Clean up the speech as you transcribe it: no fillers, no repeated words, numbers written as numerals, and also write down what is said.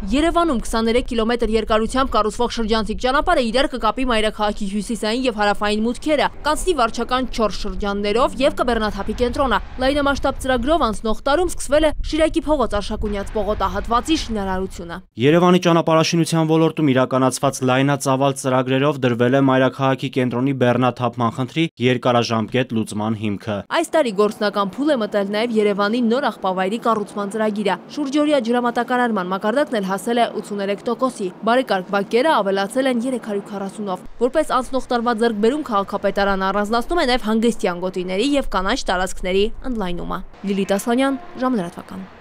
Երևանում 23 կիլոմետր երկարությամբ կառուցվող շրջանցիկ ճանապարհը իրար կկապի մայրաքաղաքի հյուսիսային եւ հարավային մուտքերը, կանցնի վարչական 4 շրջաններով եւ կբեռնաթափի կենտրոնը։ Լայնամասշտաբ ծրագրով անցնող տարում սկսվել է Շիրակի փողոց Արշակունյաց պողոտահատվածի շինարարությունը։ Երևանի ճանապարհաշինության ոլորտում իրականացված լայնածավալ ծրագրերով դրվել է մայրաքաղաքի կենտրոնի բեռնաթափման խնդրի երկարաժամկետ լուծման հիմքը։ Այս տարի գործնական փուլ է մտել նաեւ Երևանի նոր աղբավայրի կառուցման ծրագիրը։ Շուրջօրյա ջրամատակարարման մակարդակն էլ հասել է 83%-ի, բարեկարգ բակերը ավելացել են 340-ով։ Որպես անցնող տարվա ձեռքբերում քաղաքապետարանը առանձնացնում է նաև հանգստյան գոտիների եւ կանաչ տարածքների ընդլայնումը։ Լիլիթ Ասլանյան, ժամլրատվական։